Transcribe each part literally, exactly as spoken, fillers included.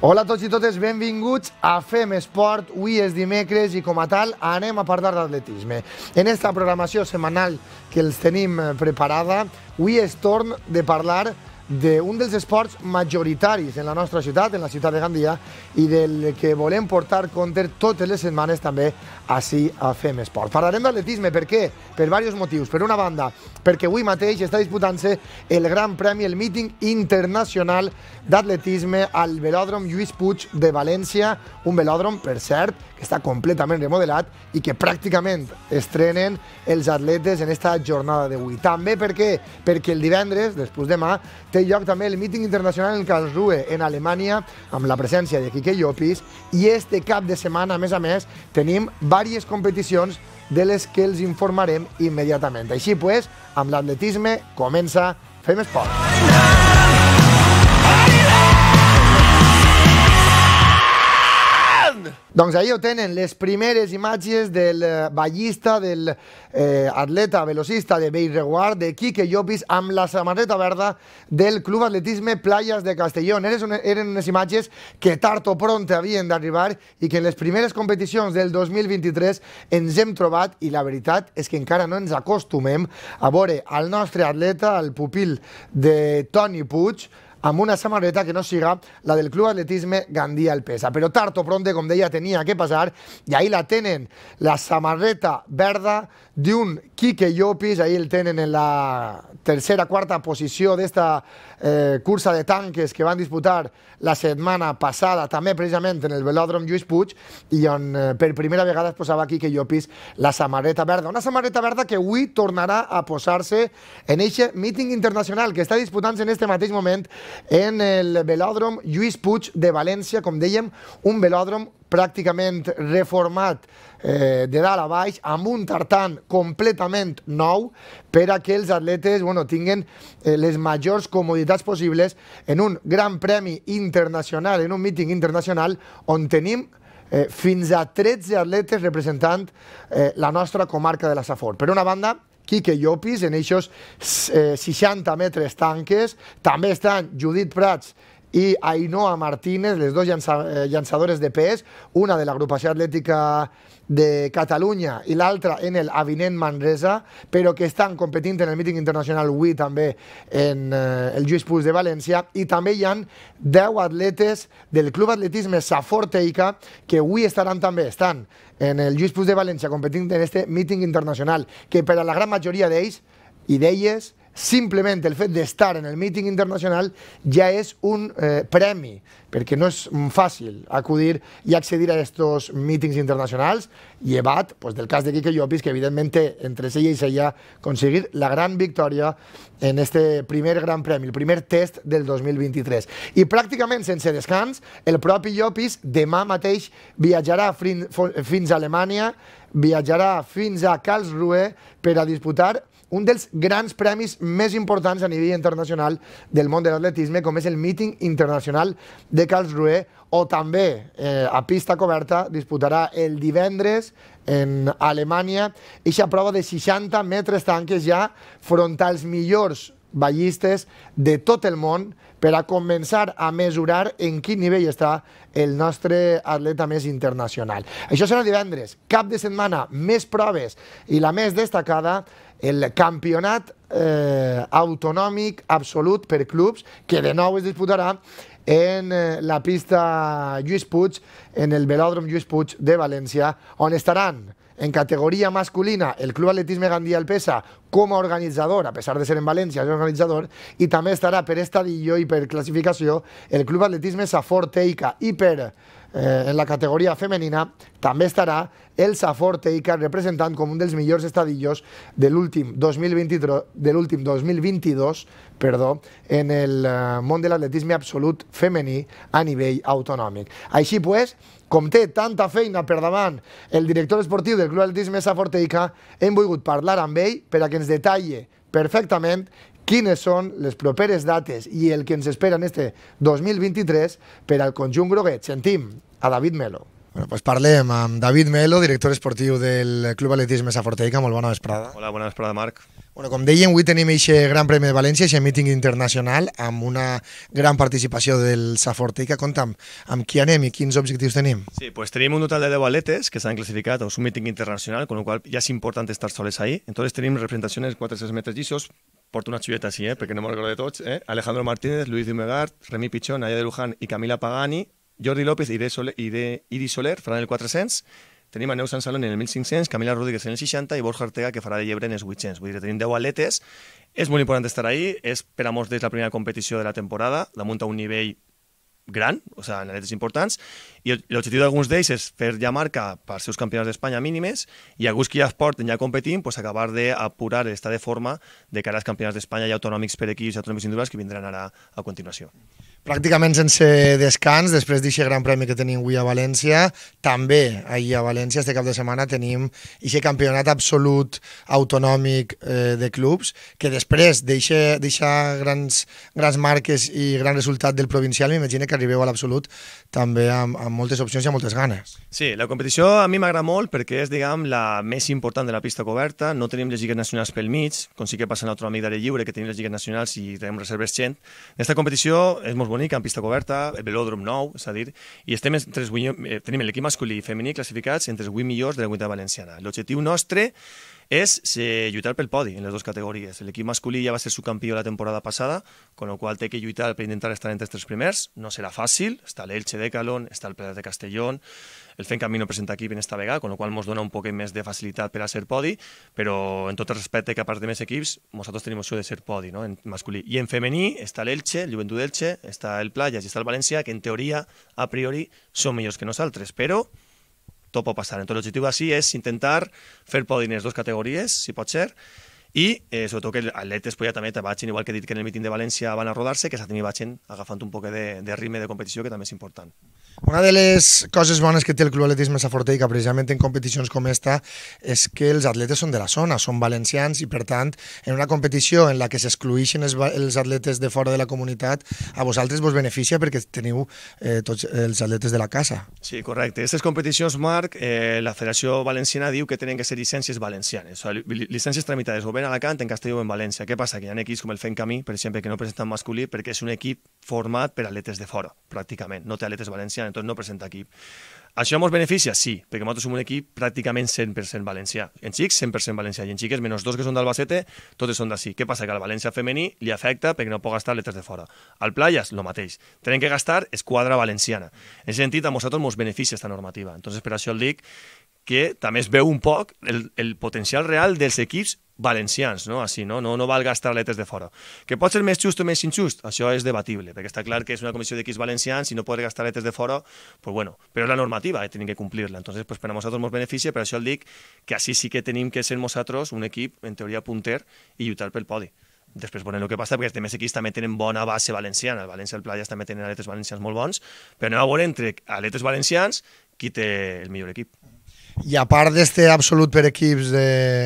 Hola a tots i totes, benvinguts a Fem Esport. Avui és dimecres i com a tal anem a parlar d'atletisme. En esta programació setmanal que els tenim preparada, avui és torn de parlar d'un dels esports majoritaris en la nostra ciutat, en la ciutat de Gandia, i del que volem portar compte totes les setmanes també així a Fem Esport. Parlarem d'atletisme, per què? Per diversos motius. Per una banda, perquè avui mateix està disputant-se el Gran Premi, el míting internacional d'atletisme al velòdrom Lluís Puig de València, un velòdrom, per cert, que està completament remodelat i que pràcticament estrenen els atletes en esta jornada d'avui. També per què? Perquè el divendres, després demà, té lloc també el míting internacional en Karlsruhe, en Alemanya, amb la presència de Quique Llopis, i este cap de setmana, a més a més, tenim diverses competicions de les que els informarem immediatament. Així pues, amb l'atletisme comença Fem Esport. Doncs ahí ho tenen, les primeres imatges del ballista, del eh, atleta velocista de Bellreguard, de Quique Llopis, amb la samarreta verda del Club Atletisme Playas de Castellón. Eren unes imatges que tard o pront havien d'arribar i que en les primeres competicions del dos mil vint-i-tres ens hem trobat, i la veritat és que encara no ens acostumem a veure al nostre atleta, el pupil de Toni Puig, amb una samarreta que no siga la del Club Atletisme Gandia El Pesa. Però tard o pronte, com deia, tenia que passar, i ahí la tenen, la samarreta verda d'un Quique Llopis. Ahí el tenen en la tercera, quarta posició d'esta eh, cursa de tanques que van disputar la setmana passada, també precisament en el velòdrom Lluís Puig, i on eh, per primera vegada es posava Quique Llopis la samarreta verda. Una samarreta verda que avui tornarà a posar-se en aquest míting internacional que està disputant-se en este mateix moment en el velòdrom Lluís Puig de València, com dèiem, un velòdrom pràcticament reformat eh, de dalt a baix, amb un tartan completament nou per a que els atletes bueno, tinguen eh, les majors comoditats possibles en un gran premi internacional, en un míting internacional on tenim eh, fins a tretze atletes representant eh, la nostra comarca de la Safor. Per una banda, Quique Llopis, en aquests eh, seixanta metres tanques. També estan Judit Prats i Ainhoa Martínez, les dues llança, eh, llançadores de pes, una de l'agrupació atlètica de Catalunya i l'altra en el Avinent Manresa, però que estan competint en el míting internacional avui també en eh, el Lluís Puig de València. I també hi ha deu atletes del Club Atletisme Safor Teica que avui estaran també, estan en el Lluís Puig de València competint en este míting internacional, que per a la gran majoria d'ells i d'elles simplement el fet d'estar en el míting internacional ja és un eh, premi, perquè no és fàcil acudir i accedir a aquests mítings internacionals, llevat pues, del cas de Quique Llopis, que evidentment té entre ella i ella aconseguir la gran victòria en este primer gran premi, el primer test del dos mil vint-i-tres. I pràcticament sense descans, el propi Llopis demà mateix viatjarà fins a Alemanya, viatjarà fins a Karlsruhe per a disputar un dels grans premis més importants a nivell internacional del món de l'atletisme, com és el míting internacional de Karlsruhe, o també eh, a pista coberta disputarà el divendres en Alemanya eixa prova de seixanta metres tanques ja front als millors ballistes de tot el món per a començar a mesurar en quin nivell està el nostre atleta més internacional. Això serà divendres, cap de setmana, més proves, i la més destacada, el campionat eh, autonòmic absolut per clubs, que de nou es disputarà en eh, la pista Lluís Puig, en el velòdrom Lluís Puig de València, on estaran en categoria masculina el Club Atletisme Gandia El Pesa com a organitzador, a pesar de ser en València, és organitzador, i també estarà per estadillo i per classificació el Club Atletisme Safor Teica, i per eh, en la categoria femenina també estarà el Safor Teica representant com un dels millors estadillos de l'últim dos mil vint-i-dos, de l'últim dos mil vint-i-dos, perdó, en el eh, món de l'atletisme absolut femení a nivell autonòmic. Així pues, com té tanta feina per davant el director esportiu del Club Atletisme Safor Teica, hem volgut parlar amb ell per a que ens detalli perfectament quines són les properes dates i el que ens espera en este dos mil vint-i-tres per al conjunt groguet. Sentim a David Melo. Bueno, pues parlem amb David Melo, director esportiu del Club Atletisme Safor Teica. Molt bona vesprada. Hola, bona vesprada, Marc. Bueno, com dèiem, avui tenim aquest Gran Premi de València, aquest míting internacional, amb una gran participació del Saforteica. Compta'm, amb qui anem i quins objectius tenim? Sí, pues tenim un total de deu atletes que s'han classificat, és un míting internacional, con lo cual ya es importante estar soles ahí. Entonces tenim representacions quatre cents metres llisos, porto una xuleta així, eh, perquè no me'n recordo de tots, eh? Alejandro Martínez, Luis Dumegard, Remi Pichón, Naya de Luján i Camila Pagani, Jordi López, Iris Soler, Iris Soler faran el quatre-cents, tenim a Neus Sansalón en el mil cinc-cents, Camila Rodríguez en el seixanta i Borja Ortega, que farà de llebre en els vuit-cents. Vull dir, tenim deu atletes, és molt important estar ahí, és per a molts d'ells la primera competició de la temporada, damunt a un nivell gran, o sigui, en atletes importants, i l'objectiu d'alguns d'ells és fer ja marca per seus campionats d'Espanya mínimes i alguns que ja es porten ja competint, pues, acabar d'apurar l'estat de forma de cara als campionats d'Espanya i autonòmics per equips i autonòmics individuals que vindran ara a continuació. Pràcticament sense descans, després d'aquest gran premi que tenim avui a València, també ahir a València, este cap de setmana, tenim aquest campionat absolut autonòmic eh, de clubs, que després deixa grans, grans marques i gran resultat del provincial, m'imagino que arribeu a l'absolut també amb, amb moltes opcions i amb moltes ganes. Sí, la competició a mi m'agrada molt perquè és, diguem, la més important de la pista coberta, no tenim les lligues nacionals pel mig, com sí que passa en l'autonòmic d'àrea lliure, que tenim les lligues nacionals i tenim reserves gent. Aquesta competició és molt bonica, en pista coberta, el velòdrom nou, és a dir, i estem entre els, eh, tenim l'equip masculí i femení classificats entre els vuit millors de la comunitat valenciana. L'objectiu nostre és eh, lluitar pel podi en les dues categories. L'equip masculí ja va ser subcampió la temporada passada, con lo qual té que lluitar per intentar estar entre els tres primers. No serà fàcil, està l'Elche de Calón, està el Prat de Castellón, el Fent Camí no presenta equip en esta vegada, con lo qual ens dona un poc més de facilitat per a ser podi, però en tot el respecte que a part de més equips, nosaltres tenim opció de ser podi, no?, en masculí. I en femení està l'Elche, el Joventut d'Elche, està el Playas i està el València, que en teoria, a priori, són millors que nosaltres, però tot pot passar. Entonces l'objectiu així és intentar fer podi en les dues categories, si pot ser, i eh, sobretot que els atletes pues, ja també vagin, igual que he dit que en el míting de València van a rodar-se, que s'atimi vagin agafant un poc de, de ritme de competició, que també és important. Una de les coses bones que té el Club Atletisme Saforteica, precisament en competicions com esta, és que els atletes són de la zona, són valencians i, per tant, en una competició en la que s'excluïxen els, els atletes de fora de la comunitat, a vosaltres vos beneficia perquè teniu eh, tots els atletes de la casa. Sí, correcte. Aquestes competicions, Marc, eh, la Federació Valenciana diu que tenen que ser llicències valencianes, o sigui, llicències tramitades o bé en Alacant, en Castelló o en València. Què passa? Que hi ha equips com el Fent Camí, per exemple, que no presenten masculí perquè és un equip format per atletes de fora, pràcticament, no té atletes valencians, entonces no presenta equip. Això ens beneficia? Sí, perquè nosaltres som un equip pràcticament cent per cent valencià. En xics, cent per cent valencià, i en xiques, menys dos que són d'Albacete, totes són d'ací. Què passa? Que al València femení li afecta perquè no pot gastar atletes de fora. Al Playas, el mateix. Tenen que gastar esquadra valenciana. En aquest sentit, a nosaltres ens beneficia aquesta normativa. Entonces, per això el dic que també es veu un poc el, el potencial real dels equips valencians, no? Així, no? No, no val gastar atletes de fora. Que pot ser més just o més injust? Això és debatible, perquè està clar que és una comissió d'equips valencians i no poder gastar atletes de fora, pues bueno, però és la normativa, eh? Tenim que complir-la. Entonces, pues per a nosaltres ens beneficia, per això el dic que així sí que tenim que ser nosaltres un equip, en teoria, punter i lluitar pel podi. Després veurem el que passa, perquè els demés equips també tenen bona base valenciana. El València i el Playas també tenen atletes valencians molt bons, però anem a veure entre atletes valencians qui té el millor equip. I a part d'este absolut per equips de,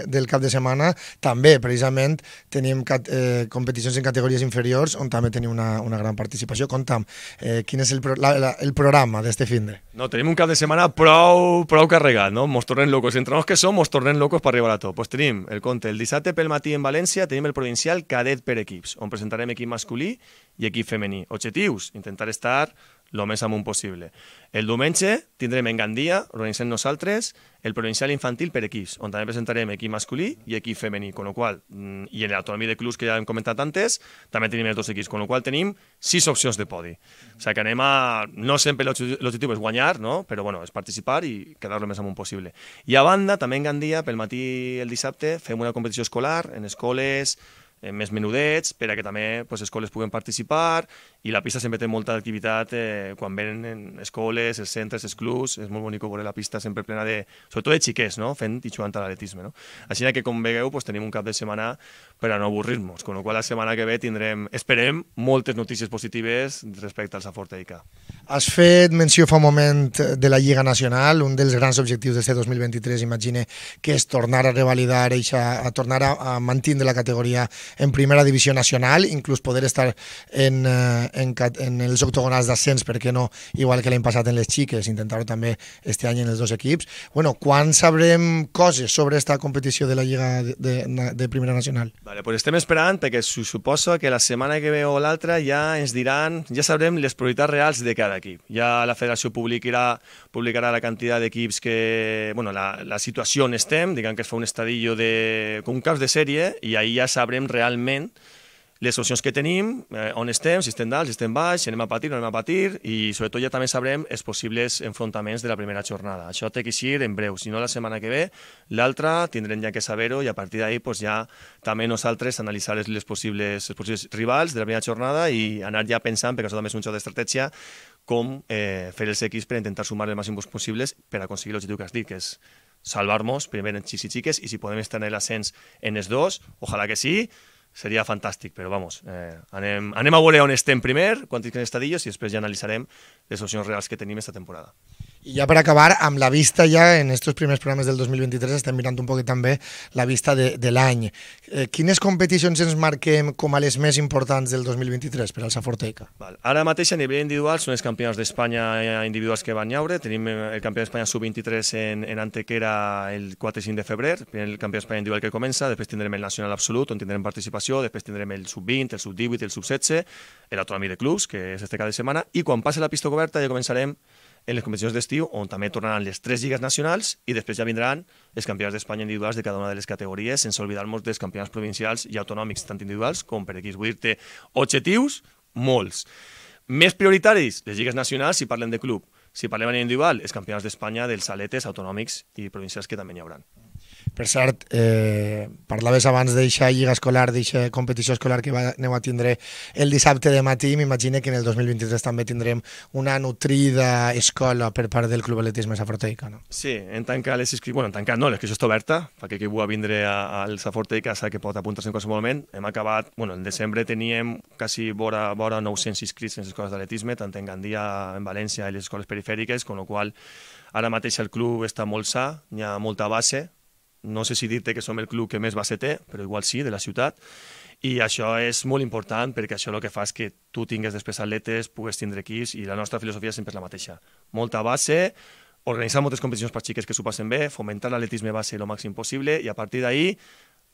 del cap de setmana, també, precisament, tenim cat, eh, competicions en categories inferiors on també tenim una, una gran participació. Conta'm, eh, quin és el, pro, la, la, el programa d'este finde? No, tenim un cap de setmana prou, prou carregat, no? Mos tornem locos. Entre els que som, mos tornem locos per arribar a tot. Pues tenim el compte el dissabte pel matí en València, tenim el provincial cadet per equips, on presentarem equip masculí i equip femení. Objectius, intentar estar el més amunt possible. El diumenge tindrem en Gandia, organitzem nosaltres, el provincial infantil per equips, on també presentarem equip masculí i equip femení, con lo qual, i en l'autonomia de clubs que ja hem comentat antes, també tenim els dos equips, con lo qual tenim sis opcions de podi. O sigui que anem a... No sempre l'objectiu és guanyar, no? Però bueno, és participar i quedar lo més amunt possible. I a banda, també en Gandia, pel matí el dissabte, fem una competició escolar en escoles més menudets, per a que també pues, escoles puguen participar, i la pista sempre té molta activitat eh, quan venen escoles, els centres, els clubs, és molt bonic veure la pista sempre plena de, sobretot de xiquets, no? Fent i jugant a l'atletisme. No? Així que, com veieu, pues, tenim un cap de setmana per a no avorrir-nos, con la qual la setmana que ve tindrem, esperem, moltes notícies positives respecte al Saforteica. Has fet menció fa un moment de la Lliga Nacional, un dels grans objectius d'aquest dos mil vint-i-tres, imagine, que és tornar a revalidar, a tornar a, a mantenir la categoria en primera divisió nacional, inclús poder estar en, en, en els octogonals d'ascens, per què no, igual que l'any passat en les xiques, intentar-ho també este any en els dos equips. Bueno, quan sabrem coses sobre esta competició de la Lliga de, de, de Primera Nacional? Vale, pues estem esperant, perquè suposo que la setmana que ve o l'altra ja ens diran, ja sabrem les prioritats reals de cada equip. Ja la federació publicarà, publicarà la quantitat d'equips que, bueno, la, la situació on estem, diguem que es fa un estadillo de, com un caos de sèrie, i ahir ja sabrem realment les opcions que tenim, eh, on estem, si estem dalt, si estem baix, si anem a patir o no anem a patir, i sobretot ja també sabrem els possibles enfrontaments de la primera jornada. Això té que ser en breu, si no la setmana que ve, l'altra tindrem ja que saber-ho, i a partir d'ahir pues, ja també nosaltres analitzar les, les, possibles, els possibles rivals de la primera jornada i anar ja pensant, perquè això també és un xoc d'estratègia, com eh, fer els equips per intentar sumar el màxim possibles per aconseguir l'objectiu que has dit, que és salvar-nos, primer en xics i xiques, i si podem estar en l'ascens en els dos, ojalà que sí, seria fantàstic, però vamos, eh, anem, anem a veure on estem primer, quants estadillos, i després ja analitzarem les opcions reals que tenim esta temporada. I ja per acabar, amb la vista ja en estos primers programes del dos mil vint-i-tres estem mirant un poquet també la vista de, de l'any. Eh, quines competicions ens marquem com a les més importants del dos mil vint-i-tres per al Saforteca? Val. Ara mateix a nivell individual són els campionats d'Espanya individuals que van llaure. Tenim el campió d'Espanya sub vint-i-tres en, en Antequera el quatre i cinc de febrer, el campió d'Espanya individual que comença, després tindrem el nacional absolut on tindrem participació, després tindrem el sub vint, el sub divuit, el sub setze, l'autonòmic de clubs, que és este cada setmana, i quan passi la pista coberta ja començarem en les competicions d'estiu, on també tornaran les tres lligues nacionals i després ja vindran els campionats d'Espanya individuals de cada una de les categories, sense oblidar-nos dels campionats provincials i autonòmics, tant individuals com per equips. Vull dir-te, objectius, molts. Més prioritaris, les lligues nacionals si parlem de club. Si parlem a nivell individual, els campionats d'Espanya dels aletes autonòmics i provincials que també n'hi haurà. Per cert, eh, parlaves abans d'eixa lliga escolar, d'eixa competició escolar que va, aneu a tindre el dissabte de matí. M'imagino que en el dos mil vint-i-tres també tindrem una nutrida escola per part del Club Atletisme Saforteica, no? Sí, en tant que les inscripcions... Bueno, en tant que no, l'inscripció està oberta, perquè qui vulgui vindre al Saforteica sap que pot apuntar-se en qualsevol moment. Hem acabat... Bueno, en desembre teníem quasi vora, vora nou-cents inscrits en les escoles d'atletisme, tant en Gandia, en València i les escoles perifèriques, con lo qual ara mateix el club està molt sa, hi ha molta base. No sé si dir-te que som el club que més base té, però igual sí, de la ciutat. I això és molt important perquè això el que fa és que tu tingues després atletes, pugues tindre equips, i la nostra filosofia sempre és la mateixa. Molta base, organitzar moltes competicions per xiques que s'ho passen bé, fomentar l'atletisme base el màxim possible, i a partir d'ahir,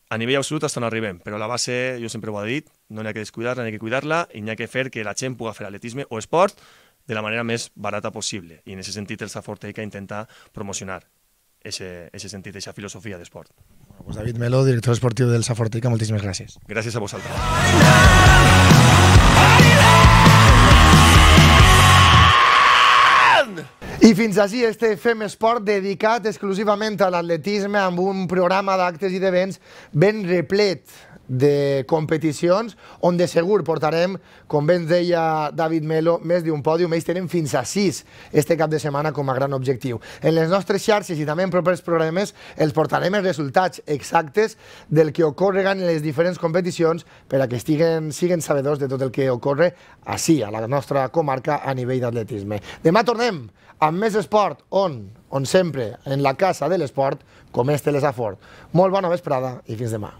a nivell absolut hasta on arribem. Però la base, jo sempre ho he dit, no n'hi ha que descuidar-la, n'hi ha que cuidar-la, i n'hi ha que fer que la gent pugui fer atletisme o esport de la manera més barata possible. I en aquest sentit el Saforteica intenta promocionar ese, ese sentit, esa filosofia d'esport. Bueno, pues David Melo, director esportiu del Saforteica, moltíssimes gràcies. Gràcies a vosaltres. I fins així este Fem Esport dedicat exclusivament a l'atletisme, amb un programa d'actes i d'events ben replet de competicions, on de segur portarem, com bé ens deia David Melo, més d'un pòdium. Ells tenen fins a sis este cap de setmana com a gran objectiu. En les nostres xarxes i també en propers programes els portarem els resultats exactes del que ocorre en les diferents competicions per a que estiguen, siguen sabedors de tot el que ocorre així, a la nostra comarca, a nivell d'atletisme. Demà tornem amb més esport, on? On sempre, en la casa de l'esport, com és Telesafort. Molt bona vesprada i fins demà.